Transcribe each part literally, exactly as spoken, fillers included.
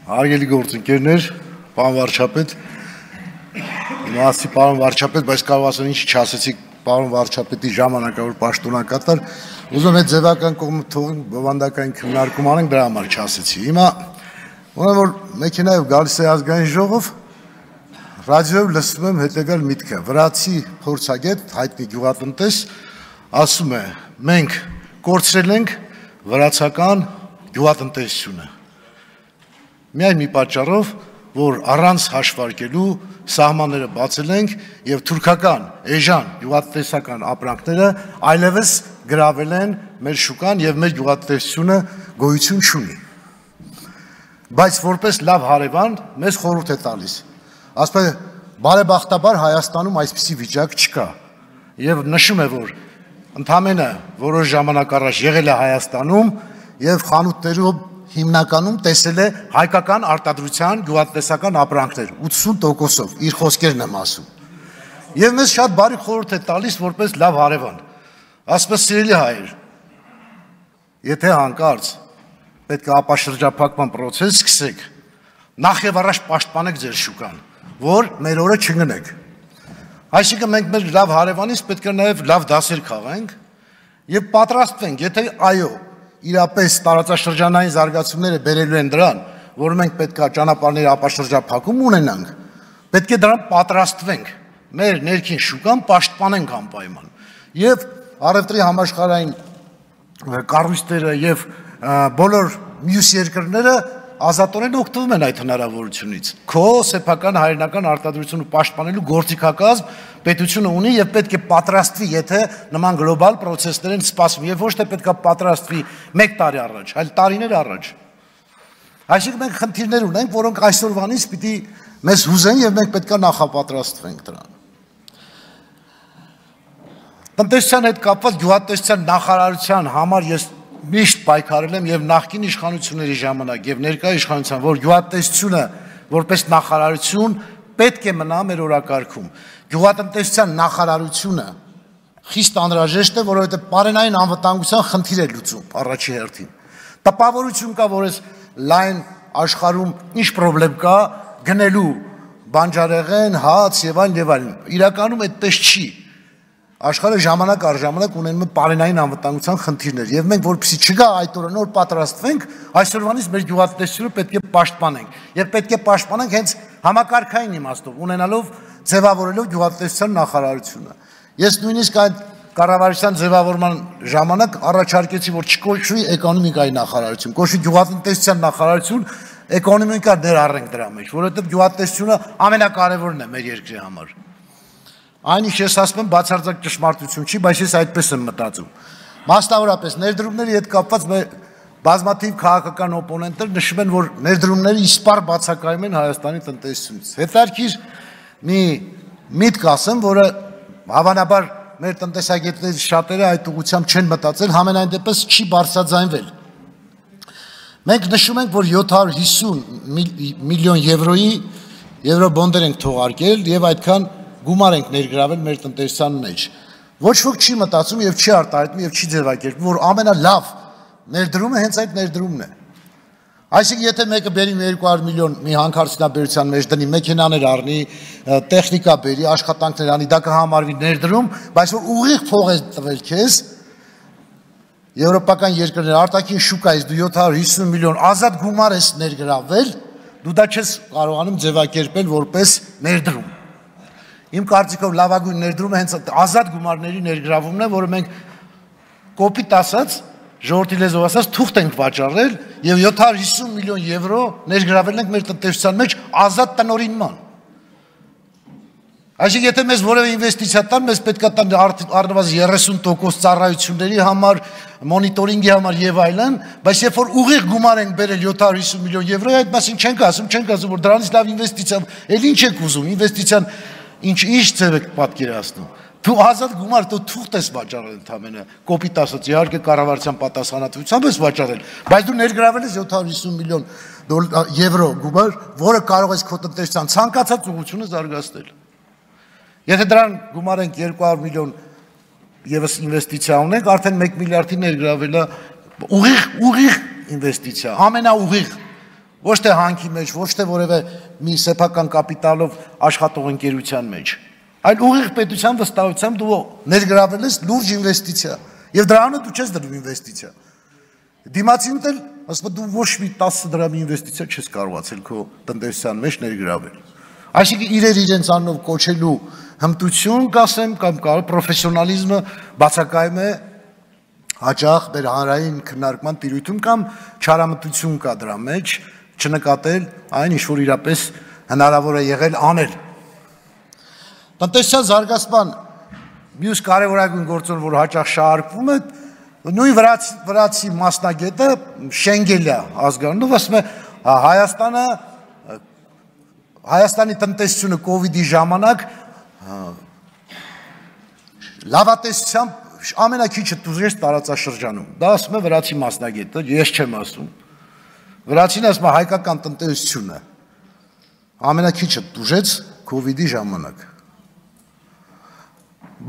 Հարգելի գործընկերներ, պարոն վարչապետ, իմացի պարոն վարչապետ, բայց կարող ասեմ ինչ չասեցիք պարոն վարչապետի ժամանակավոր պաշտոնակատար, ուզում եմ ձևական կողմը թողին բովանդակային քննարկում անենք, դրա համար չասեցի։ Հիմա ուրեմն որ մեքենայով գալիս է ազգային ժողով, ռադիոյով լսում եմ հետևյալ միտքը, վրացի փորձագետ, հայտնի գյուղատնտես, ասում է, մենք կորցրել ենք վրացական գյուղատնտեսությունը։ Միայն մի պատճառով, որ առանց հաշվարկելու սահմանները բացել ենք եւ թուրքական, էժան գյուղատնտեսական ապրանքները այլևս գրավել են մեր շուկան եւ մեր գյուղատնտեսությունը գոյություն չունի։ Բայց որպես լավ հարևան մեզ խորհուրդ է տալիս։ Ասում է, բարեբախտաբար Հայաստանում այսպիսի վիճակ չկա։ Եվ նշում է, որ ընդամենը որոշ ժամանակ առաջ եղել է Հայաստանում եւ խանութներում հիմնականում տեսել է հայկական արտադրության գյուղատնտեսական ապրանքներ ութսուն տոկոսով, իր խոսքերն եմ ասում։ Եվ մեզ շատ բարի խորհուրդ է տալիս որպես լավ հարևան։ Ասում է, սիրելի հայեր, եթե հանկարծ պետք է ապաշրջափակման process սկսեք, նախ եւ առաջ պաշտպանեք ձեր շուկան, որ մեր օրը չգնեք։ Այսինքն մենք մեր լավ հարևանից պետք է նաեւ լավ դասեր քաղենք եւ պատրաստվենք, եթե այո իրապես տարածաշրջանային զարգացումները բերելու են դրան, որ մենք պետք է ճանապարհների ապաշրջափակում ունենանք, պետք է դրան պատրաստվենք, մեր ներքին շուկան պաշտպանենք անպայման։ Եվ առևտրի համաշխարհային կառույցները եւ բոլոր մյուս երկրները ազատորեն օգտվում են այդ հնարավորությունից։ Քո սեփական հայրենական արտադրությունը պաշտպանելու գործիքակազմ պետությունը ունի եւ պետք է պատրաստվի, եթե նման գլոբալ process-ներ են սպասվում, եւ ոչ թե պետք է պատրաստվի մեկ տարի առաջ, այլ տարիներ առաջ։ Այսինքն մենք խնդիրներ ունենք, որոնք այսօրվանից պիտի մեզ հուզեն եւ մենք պետք է նախապատրաստվենք դրան։ Տնտեսության հետ կապված գյուղատնտեսության նախարարության համար ես միշտ պայքարել եմ եւ նախկին իշխանությունների ժամանակ եւ ներկա իշխանության, որ գյուղատնտեսությունը որպես նախարարություն պետք է մնա մեր օրակարգում։ Գյուղատնտեսության նախարարությունը խիստ անհրաժեշտ է, որովհետեւ պարենային անվտանգության խնդիր է լուծում առաջի հերթին։ Տպավորություն կա, որ այս լայն աշխարհում ինչ խնդրեմ կա գնելու բանջարեղեն, հաց եւ այլն եւ այլն։ Իրականում այդպես չի։ Աշխարհը ժամանակ առ ժամանակ ունենում է պարենային անվտանգության խնդիրներ եւ մենք որպեսզի չգա այդ օրը նոր պատրաստվենք, այսօրվանից մեր գյուղատնտեսությունը պետք է պաշտպանենք եւ պետք է պաշտպանենք հենց համակարգային իմաստով, ունենալով ձևավորելով գյուղատնտեսության նախարարությունը։ Ես նույնիսկ այդ կառավարության ձևավորման ժամանակ առաջարկեցի, որ չկոչվի էկոնոմիկայի նախարարություն, կոչվի գյուղատնտեսության նախարարություն, էկոնոմիկա ներառենք դրա մեջ, որովհետեւ գյուղատնտեսությունը ամենակարևորն է մեր երկրի համար։ Այն ինչ ես ասում եմ բացարձակ ճշմարտություն չի, բայց ես այդպես եմ մտածում։ Մասնավորապես ներդրումների հետ կապված բազմաթիվ քաղաքական օպոնենտներ նշում են, որ ներդրումները իսպառ բացակայում են Հայաստանի տնտեսությունից։ Հետարքիր մի միտք ասեմ, որը հավանաբար մեր տնտեսագետներից շատերը այդ ուղղությամբ չեն մտածել, համենայն դեպս չի բարձրաձայնվել։ Մենք նշում ենք, որ յոթ հարյուր հիսուն միլիոն եվրոյի եվրոբոնդեր ենք թողարկել եւ այդքան գումար ենք ներգրավել մեր տնտեսության մեջ։ Ոչ ոք չի մտածում եւ չի արտահայտում եւ չի ձևակերպում, որ ամենալավ ներդրումը հենց այդ ներդրումն է։ Այսինքն եթե մեկը բերի երկու հարյուր միլիոն մի հանքարդյունաբերության մեջ դնի, մեքենաներ առնի, տեխնիկա բերի, աշխատանքներ անի, դա կհամարվի ներդրում, բայց որ ուղիղ փող է տվել քեզ եվրոպական երկրներ արտաքին շուկայից դու յոթ հարյուր հիսուն միլիոն ազատ գումար ես ներգրավել, դու դա չես կարողանում ձևակերպել որպես ներդրում։ Իմ կարծիքով լավագույն ներդրումը հենց ազատ գումարների ներգրավումն է, որը մենք կոպիտ ասած, ժողովրդի լեզվով ասած, թուղթ ենք վաճառել եւ յոթ հարյուր հիսուն միլիոն եվրո ներգրավել ենք մեր տնտեսության մեջ ազատ տնօրինման։ Այսինքն եթե մեզ որևէ ինվեստիցիա տան, մեզ պետք է տան առնվազն երեսուն տոկոս ծառայությունների համար, մոնիտորինգի համար եւ այլն, բայց երբ որ ուղիղ գումար ենք բերել յոթ հարյուր հիսուն միլիոն եվրո, այդ մասին չենք ասում, չենք ասում, որ դրանից լավ ինվեստիցիա, ել ինչ եք ուզում, ինվեստիցիան ինչ ինչ ձև եք պատկերացնում։ Դու ազատ գումար դու թուղթ ես վաճառել ընդամենը, կոպիտ ասած, իհարկե կառավարության պատասխանատվությամբ ես վաճառել, բայց դու ներգրավել ես յոթ հարյուր հիսուն միլիոն եվրո գումար, որը կարող ես քո տնտեսության ցանկացած ուղղությունը զարգացնել։ Եթե դրան գումարենք երկու հարյուր միլիոն եւս ինվեստիցիա ունենք, արդեն մեկ միլիարդի ներգրավել է ուղիղ ուղիղ ինվեստիցիա, ամենաուղիղ Ոչ թե հանքի մեջ, ոչ թե որևէ մի սեփական կապիտալով աշխատող ընկերության մեջ, այլ ուղիղ պետության վստահությամբ դու ներգրավել ես լուրջ ինվեստիցիա, եւ դրանով դու չես դրում ինվեստիցիա։ Դիմացինդ էլ, ասում դու ոչ մի տասը դրամ ինվեստիցիա չես կարողացել քո տնտեսության մեջ ներգրավել։ Այսինքն իրեր իրենց անունով կոչելու հմտություն, կասեմ, կամ կարող պրոֆեսիոնալիզմը բացակայում է հաճախ մեր հանրային քննարկման տիրույթում կամ չարամտություն կա դրա մեջ, չնկատել այն, ինչ որ իրապես հնարավոր է եղել անել։ Տնտեսության զարգացման մյուս կարևորագույն գործոն, որ հաճախ շահարկվում է, նույն վրացի, վրացի մասնագետը Շենգելյա ազգանունով ասում է Հայաստանը Հայաստանի տնտեսությունը կովիդի ժամանակ լավատեսությամբ ամենակիչը տուժեց տարածաշրջանում։ Դա ասում է վրացի մասնագետը, ես չեմ ասում։ Վրացին ասում է հայկական տնտեսությունը ամենակիչը տուժեց կովիդի ժամանակ։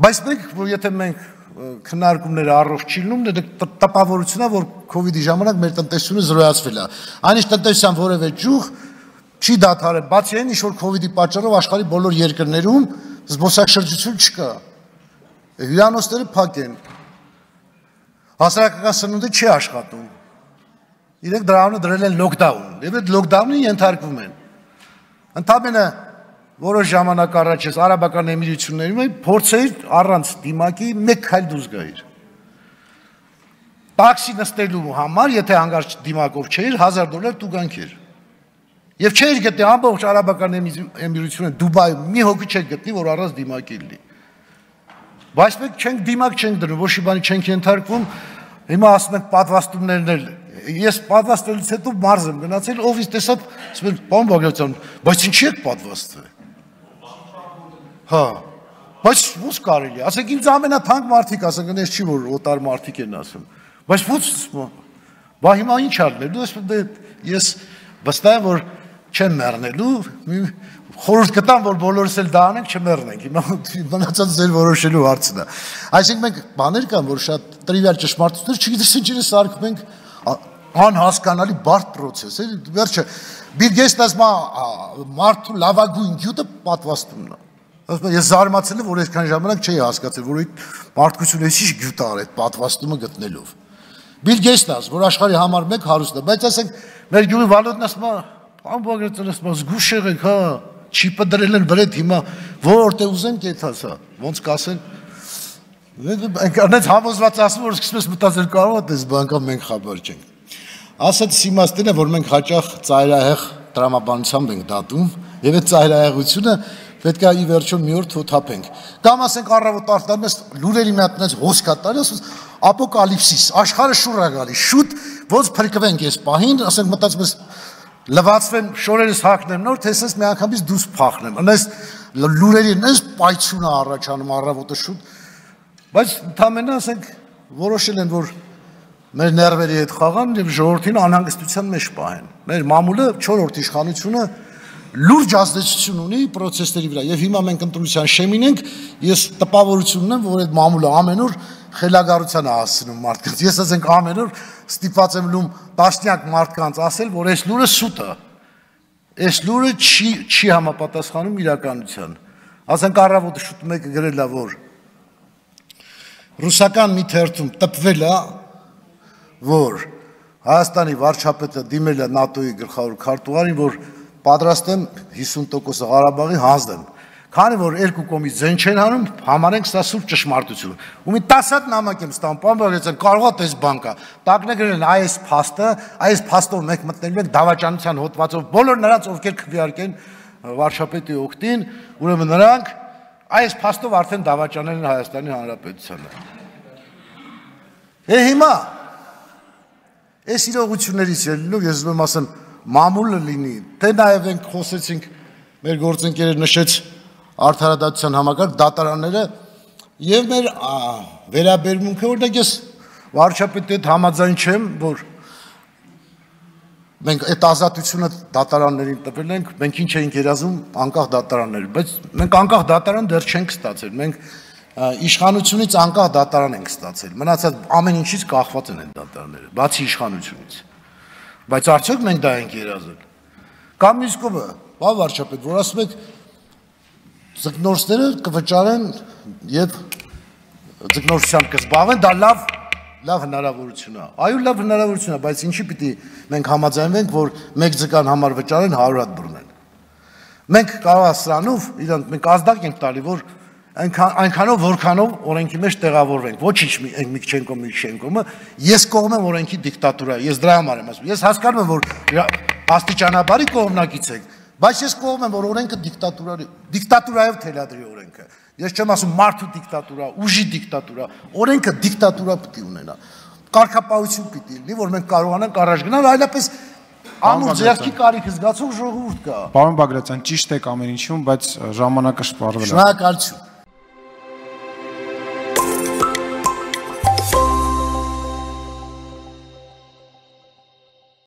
Բայց մենք, որ եթե մենք քննարկումները առողջ չլինում, դա տպավորությունն է, որ կովիդի ժամանակ մեր տնտեսությունը զրոյացվել է։ Այնիշ տնտեսության որևէ ճյուղ չի դադարել, բացի այն, ինչ որ կովիդի պատճառով աշխարհի բոլոր երկրներում զբոսաշրջություն չկա։ Հյուրանոցները փակ են։ Հասարակական սնունդը չի աշխատում։ Իրենք դրանով դրել են լոկդաուն, եւ այդ լոկդաունին ենթարկվում են։ Ընդամենը որոշ ժամանակ առաջ ես Արաբական Էմիրություններում փորձեիր առանց դիմակի մեկ քայլ դուրս գայիր։ Տաքսի նստելու համար, եթե հանգարց դիմակով չէիր, հազար դոլար տուգանք էր։ Եվ չէր գտնի ամբողջ Արաբական Էմիրությունը Դուբայում մի հոգի չէր գտնի, որ առանց դիմակի լինի։ Բայց մենք չենք դիմակ չենք դնում, ոչ մի բանի չենք ենթարկվում։ Հիմա ասում ենք պատվաստումներն էլ։ Ես պատվաստելուց հետո մարզ եմ գնացել, ով ինձ տեսավ, ասում են, պարոն Բագրատյան, բայց ինչի եք պատվաստվել։ Հա, բայց ո՞ց կարելի է։ Ասենք ինձ ամենաթանկ մարդիկ ասեն, գնես չի որ օտար մարդիկ են ասում։ Բայց ո՞ց, բա հիմա ինչ արնելու, ասում ես վստահ եմ, որ չեմ մեռնելու, խորհուրդ կտամ, որ բոլորս էլ դա անենք, չմեռնենք, հիմա մնացած ձեր որոշելու հարցն է։ Այսինքն մենք բաներ կան, որ շատ տրիվիալ ճշմարտություններ, չգիտես ինչի սարքում ենք, անհասկանալի բարդ պրոցես է, վերջը Բիլ Գեյթսն ասում է մարդու լավագույն գյուտը պատվաստումն է։ Ասում եմ, ես զարմացել եմ, որ այսքան ժամանակ չէի հասկացել, որ այդ մարդկությունը ինչ գյուտ ար այդ պատվաստումը գտնելով։ Բիլ Գեյթսն ասում, որ աշխարհի համար մեկ հարուստ է, բայց ասենք մեր գյուղի Վալոդն ասում է, պարոն Բագրատյան, ասում է, զգուշ եղեք, հա, չիպը դրել են վրեդ հիմա, որտե ուզեն կեթաս, հա, ոնց կասեն։ Այնց համոզված ասում, որ սկսում ես մտածել կարող է, դες բանկա մենք խաբար չենք։ Ասած իմաստին է, որ մենք հաճախ ծայրահեղ տրամաբանությամբ ենք դատում, եւ այդ ծայրահեղությունը պետք է ի վերջո մի օր թոթափենք։ Կամ ասենք առավոտ արտանում ես լուրերի մի հատ այնց հոսքա տալի, ասում ապոկալիպսիս, աշխարհը շուռ է գալիս, շուտ ոնց փրկվենք այս պահին, ասենք մտածում ես լվացվեմ, շորերս հագնեմ նոր, թե ասես մի անգամից դուրս փախնեմ։ Այնպես լուրերի այնպես պայթյուն է առաջանում առավոտը շուտ, բայց ընդամենը ասենք որոշել են, որ մեր ներվերի հետ խաղան եւ ժողովրդին անհանգստության մեջ պահեն։ Մեր մամուլը չորրորդ իշխանությունը լուրջ ազդեցություն ունի process-ների վրա եւ հիմա մենք ընտրության շեմին ենք, ես տպավորություն ունեմ, որ այդ մամուլը ամեն օր խելագարության է հասցնում մարդկանց։ Ես ասենք ամեն օր ստիպված եմ լում տասնյակ մարդկանց ասել, որ այս լուրը սուտ է։ Այս լուրը չի չի համապատասխանում իրականության։ Ասենք առավոտը շուտ մեկը գրել է, որ ռուսական մի թերթում տպվել է, որ Հայաստանի վարչապետը դիմել է ՆԱՏՕ-ի գլխավոր քարտուղարին, որ պատրաստ եմ հիսուն տոկոս Ղարաբաղի հանձնեմ։ Քանի որ երկու կողմից ձեն չեն հանում, համարենք սա սուրբ ճշմարտություն։ Ու մի տասը հատ նամակ եմ ստանում, պարոն Բագրատյան, կարող է դες բանկա։ Տակն է գրել այս փաստը, այս փաստով մենք մտնելու ենք դավաճանության հոդվածով բոլոր նրանց, ովքեր քվեարկեն վարչապետի օգտին, ուրեմն նրանք այս փաստով արդեն դավաճանել են Հայաստանի Հանրապետությանը։ Է հիմա այս իրողություններից ելնելով ես ուզում եմ ասեմ մամուլը լինի, թե նաև ենք խոսեցինք մեր գործընկերը նշեց արդարադատության համակարգ դատարանները եւ մեր վերաբերմունքը, որտեղ ես վարչապետի հետ համաձայն չեմ, որ մենք այդ ազատությունը դատարաններին տվել ենք, մենք ինչ էինք երազում անկախ դատարաններ, բայց մենք անկախ դատարան դեռ չենք ստացել, մենք իշխանությունից անկախ դատարան ենք ստացել, մնացած ամեն ինչից կախված են այդ դատարանները, բացի իշխանությունից, բայց արդյոք մենք դա ենք երազել։ Կամ մյուս կողմը, պարոն վարչապետ, որ ասում եք ձկնորսները կվճարեն եւ ձկնորսությամբ կզբաղվեն, դա լավ լավ հնարավորություն է։ Այո, լավ հնարավորություն է, բայց ինչի պիտի մենք համաձայնվենք, որ մեկ ձկան համար վճարեն հարյուր հատ բռնեն։ Մենք կարող է սրանով իրանք մենք ազդակ ենք տալի, որ այնքանով որքանով օրենքի մեջ տեղավորվենք, ոչինչ Միքչենկո Միքչենկոմը, ես կողմ եմ օրենքի դիկտատուրա, ես դրա համար եմ ասում։ Ես հասկանում եմ, որ աստիճանաբարի կողմնակից եք, բայց ես կողմ եմ, որ օրենքը դիկտատուրա դիկտատուրայով թելադրի օրենքը։ Ես չեմ ասում մարդու դիկտատուրա, ուժի դիկտատուրա, օրենքը դիկտատուրա պիտի ունենա։ Կարգապահություն պիտի լինի, որ մենք կարողանանք առաջ գնալ, այլապես անուր ձեռքի կարիք զգացող ժողովուրդ կա։ Պարոն Բագրատյան, ճիշտ եք ամեն ինչում, բայց ժամանակը շպարվել է։ Շնորհակալություն։